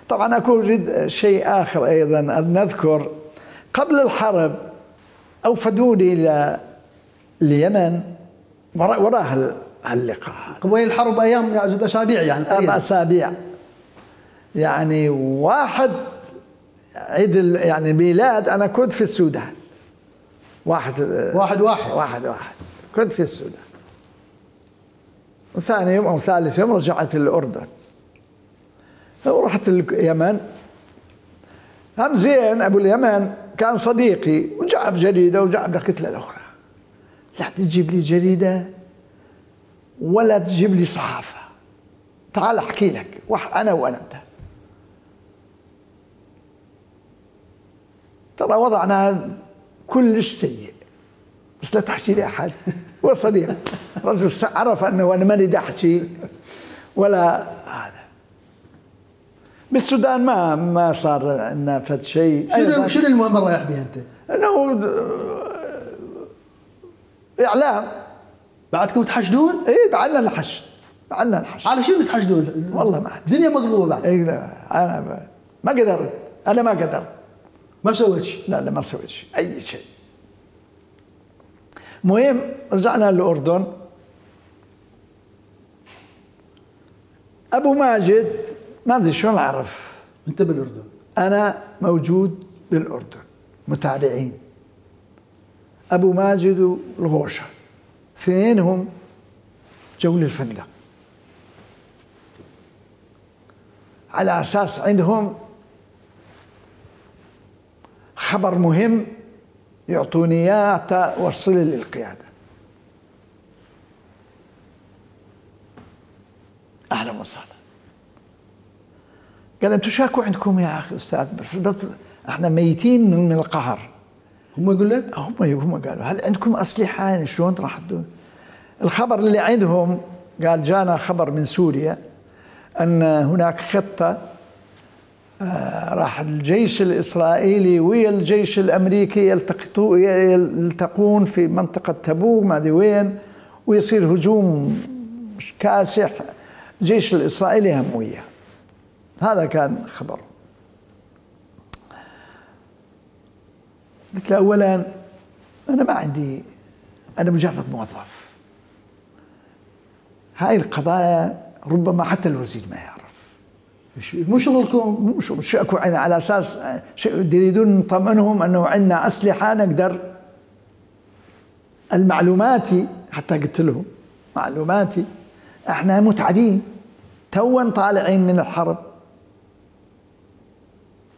طبعا اكو اريد شيء اخر ايضا ان نذكر. قبل الحرب اوفدوني الى اليمن وراء وراء هاللقاء. قبل الحرب ايام يعني اسابيع يعني اربع اسابيع. يعني واحد عيد يعني ميلاد انا كنت في السودان. واحد واحد واحد واحد واحد كنت في السودان. وثاني يوم او ثالث يوم رجعت الاردن. ورحت اليمن. هم زين ابو اليمن كان صديقي وجاب جريده وجاب الكتله الاخرى. لا تجيب لي جريده ولا تجيب لي صحافه. تعال احكي لك انا وانا انت. ترى وضعنا كلش سيء، بس لا تحكي لي احد. هو صديق رجل عرف انه انا ماني احكي ولا هذا. بالسودان ما ما صار عندنا فد شيء. شنو شنو المهم رايح بها انت؟ انه اعلام. بعدكم تحشدون؟ اي بعدنا نحشد، بعدنا نحشد. على شنو تحشدون؟ والله ما الدنيا مقلوبه بعد. اي لا انا ما قدرت، انا ما قدرت. ما سويت شيء؟ لا لا ما سويت شيء، اي شيء. المهم رجعنا للاردن. ابو ماجد ما ادري شلون اعرف. انت بالاردن؟ انا موجود بالاردن، متابعين. ابو ماجد والغوشه اثنينهم جو للفندق على اساس عندهم خبر مهم يعطوني اياه حتى اوصله للقياده. اهلا وسهلا. قال انتم شاكو عندكم يا اخي استاذ؟ بس, بس احنا ميتين من القهر. هم يقول لك؟ هم هم قالوا هل عندكم اسلحه؟ يعني شلون راح تدون؟ الخبر اللي عندهم قال جانا خبر من سوريا ان هناك خطه آه راح الجيش الاسرائيلي ويا الجيش الامريكي يلتقطوا يلتقون في منطقه تبوك ما ادري وين، ويصير هجوم كاسح. الجيش الاسرائيلي هم وياه. هذا كان خبر. قلت له اولا انا ما عندي، انا مجرد موظف. هاي القضايا ربما حتى الوزير ما يعرف. مو شغلكم. مو شغلكم. على اساس يريدون نطمئنهم انه عندنا اسلحه نقدر. المعلوماتي حتى قلت لهم معلوماتي احنا متعبين توا طالعين من الحرب.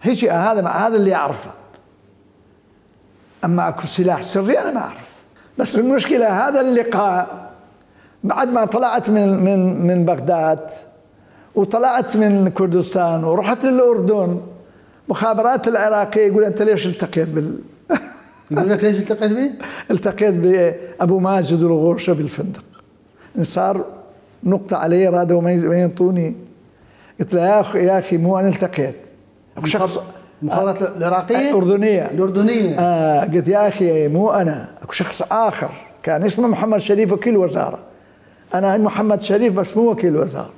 هيك هذا هذا اللي اعرفه. اما اكو سلاح سري انا ما اعرف. بس المشكله هذا اللقاء بعد ما طلعت من من من بغداد وطلعت من كردستان ورحت للاردن، مخابرات العراقيه يقول انت ليش التقيت بال يقول لك ليش التقيت به؟ التقيت بابو ماجد والغوشه بالفندق. صار نقطه علي رادوا ما ينطوني. قلت له يا اخي يا اخي مو انا التقيت. اكو شخص المخابرات العراقيه الاردنيه الاردنيه آه قلت يا اخي مو انا، اكو شخص اخر كان اسمه محمد شريف وكيل وزاره. انا محمد شريف بس مو وكيل وزاره.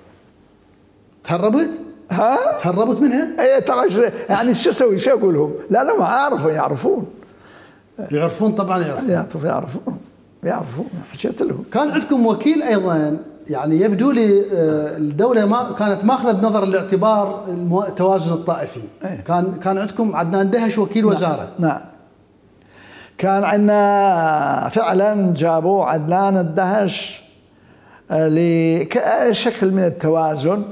تهربت؟ ها؟ تهربت منها؟ اي طبعا يعني شو اسوي؟ شو اقول لهم؟ لا لا ما اعرفوا يعرفون. يعرفون طبعا يعرفون يعرفون يعرفون يعرفون حكيت لهم. كان عندكم وكيل ايضا، يعني يبدو لي آه، الدوله ما كانت ماخذه بنظر الاعتبار المو- التوازن الطائفي. أيه. كان كان عندكم عدنان دهش وكيل وزاره. نعم. كان عندنا فعلا جابوا عدنان الدهش آه، لشكل من التوازن،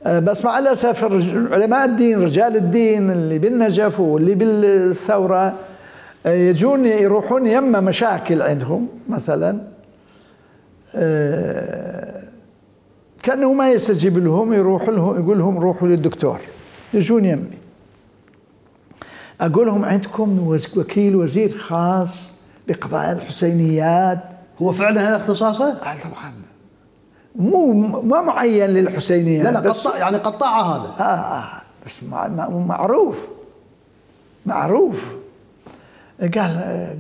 آه، بس مع الاسف الرج- علماء الدين رجال الدين اللي بالنجف واللي بالثوره آه، يجون يروحون يما مشاكل عندهم مثلا، آه، كانه ما يستجيب لهم، يروح لهم يقول لهم روحوا للدكتور، يجون يمي اقول لهم عندكم وز- وكيل وزير خاص بقضايا الحسينيات. هو فعلا هذا اختصاصه؟ آه طبعا مو ما معين للحسينيات، لا لا بس قطع يعني قطعه هذا. آه آه بس مع مع- معروف معروف. قال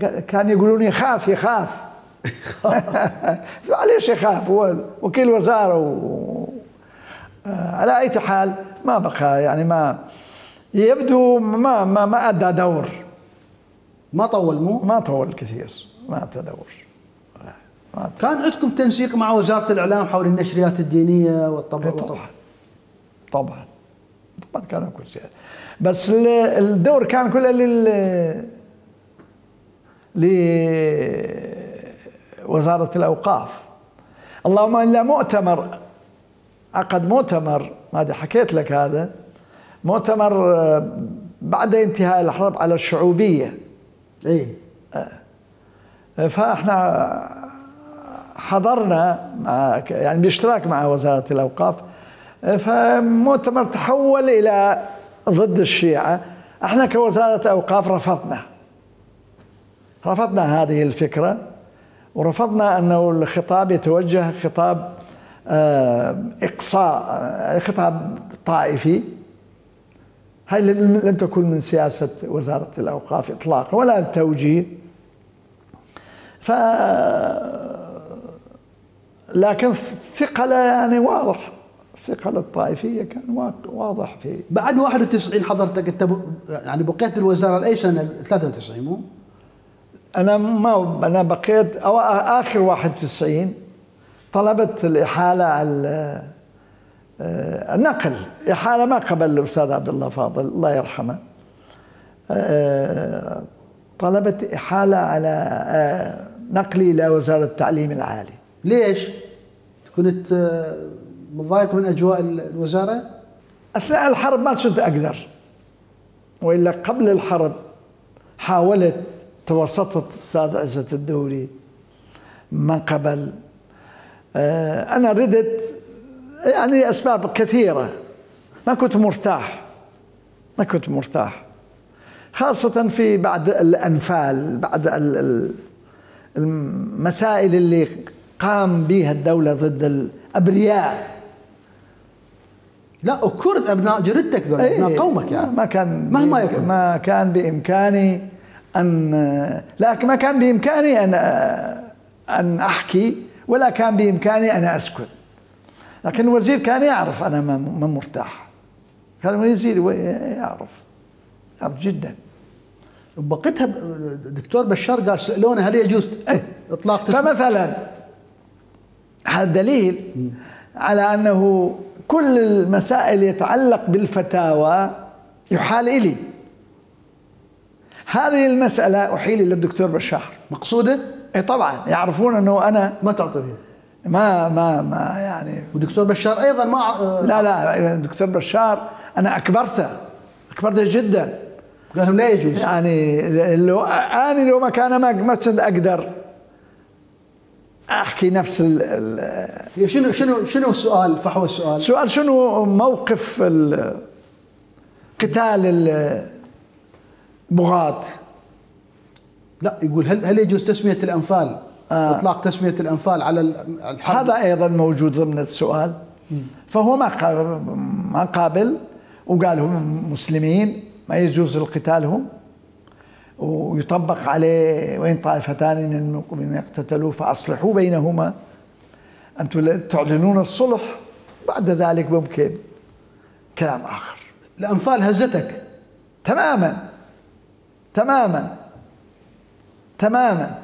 قال- كان يقولون يخاف يخاف معليش يخاف، هو وكيل وزاره و... آه، على اي حال ما بقى، يعني ما يبدو ما ما ما ادى دور، ما طول مو؟ ما طول كثير، ما ادى دور. ما أدى. كان عندكم تنسيق مع وزاره الاعلام حول النشريات الدينيه والطبع طبعا طبعا طبعا كانوا كل شيء، بس ال- الدور كان كله لل لوزارة الأوقاف. اللهم إلا مؤتمر، عقد مؤتمر، ما أدري حكيت لك هذا مؤتمر آه، بعد انتهاء الحرب على الشعوبية، اي فاحنا حضرنا مع يعني باشتراك مع وزارة الأوقاف، فمؤتمر تحول إلى ضد الشيعة. احنا كوزارة أوقاف رفضنا رفضنا هذه الفكرة، ورفضنا أنه الخطاب يتوجه خطاب آه، إقصاء، آه، خطاب طائفي. هاي لم تكن من سياسة وزارة الأوقاف إطلاقا ولا التوجيه. ف لكن الثقل يعني واضح، الثقل الطائفية كان وا- واضح في بعد واحد وتسعين حضرتك انت ب... يعني بقيت بالوزاره لاي سنه؟ ثلاثة وتسعين مو؟ أنا ما أنا بقيت أو آخر واحد وتسعين طلبت الإحالة على آه، النقل، إحالة ما قبل الأستاذ عبد الله فاضل الله يرحمه، آه، طلبت إحالة على آه، نقلي إلى وزارة التعليم العالي. ليش؟ كنت آه، متضايق من اجواء ال- الوزاره؟ أثناء الحرب ما كنت أقدر، وإلا قبل الحرب حاولت، توسطت الأستاذ عزت الدوري ما قبل. آه، أنا ردت يعني أسباب كثيرة، ما كنت مرتاح ما كنت مرتاح خاصة في بعد الأنفال، بعد ال- ال- المسائل اللي قام بها الدولة ضد الأبرياء. لا وكرد ابناء جردتك ذول ابناء إيه، قومك يعني. ما كان مهما بإمك- يكن. ما كان بإمكاني أن لكن ما كان بإمكاني أن أن أحكي، ولا كان بإمكاني أن أسكت. لكن الوزير كان يعرف أنا ما ما مرتاح، كان الوزير يعرف يعرف جدا. بقيتها ب- دكتور بشار قال سالونا هل يجوز إيه. اطلاق تسمية؟ فمثلا هذا دليل على أنه كل المسائل يتعلق بالفتاوى يحال إلي. هذه المسألة أحيل إلى الدكتور بشار. مقصوده؟ إيه طبعا يعرفون أنه أنا ما تعطي فيها. ما ما ما يعني ودكتور بشار ايضا ما آه، لا لا الدكتور بشار أنا أكبرته أكبرته جدا، قال لهم لا يجوز. يعني لو أنا لو ما كان ما ما كنت أقدر أحكي نفس ال- ال- هي شنو شنو شنو السؤال؟ فحوى السؤال. سؤال شنو موقف ال- قتال البغاة؟ لا يقول هل هل يجوز تسميه الانفال؟ آه. اطلاق تسميه الانفال على ال- الحرب؟ هذا ايضا موجود ضمن السؤال. فهو ما قابل ما قابل وقال هم مسلمين ما يجوز القتالهم، ويطبق عليه وإن طائفتان من المؤمنين اقتتلوا فأصلحوا بينهما، أنتم تعلنون الصلح بعد ذلك ممكن كلام آخر. الانفال هزتك؟ تماما تماما تماما.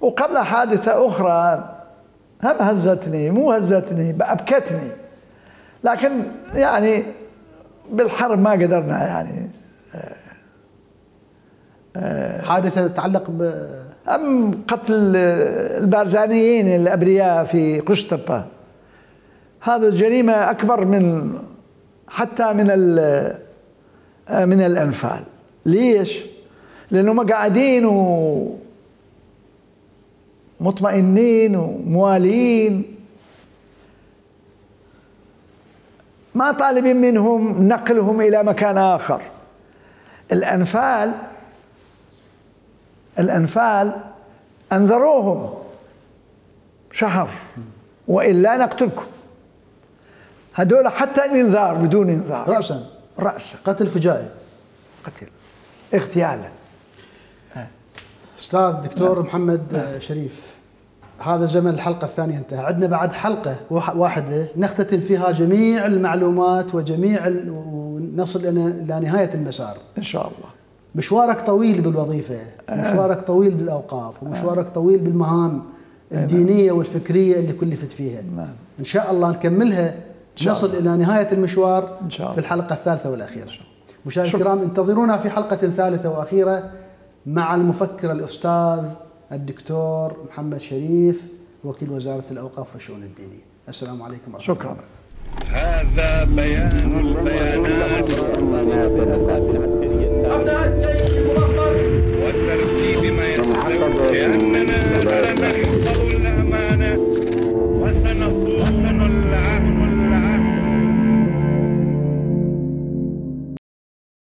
وقبل حادثة أخرى هم هزتني، مو هزتني، أبكتني، لكن يعني بالحرب ما قدرنا يعني. حادثة تتعلق ب أم قتل البارزانيين الأبرياء في قشطبة، هذا جريمة أكبر من حتى من من الأنفال. ليش؟ لأنهم قاعدين ومطمئنين وموالين، ما طالبين منهم نقلهم إلى مكان آخر. الأنفال الأنفال أنذروهم شهر وإلا نقتلكم. هذول حتى الإنذار بدون إنذار، رأسا رأسا قتل فجائي، قتل اغتيالا. أستاذ دكتور محمد شريف، هذا زمن الحلقة الثانية انتهى، عندنا بعد حلقة واحدة نختتم فيها جميع المعلومات وجميع ال... ونصل إلى نهاية المسار إن شاء الله. مشوارك طويل بالوظيفة، مشوارك طويل بالأوقاف، ومشوارك طويل بالمهام الدينية والفكرية اللي كلفت فيها. إن شاء الله نكملها، نصل إلى نهاية المشوار في الحلقة الثالثة والأخيرة. مشاهدينا الكرام، انتظرونا في حلقة ثالثة وأخيرة مع المفكر الأستاذ الدكتور محمد شريف، وكيل وزارة الأوقاف والشؤون الدينية. السلام عليكم ورحمة الله وبركاته. هذا بيان البيانات. أبناء الجيش المرحب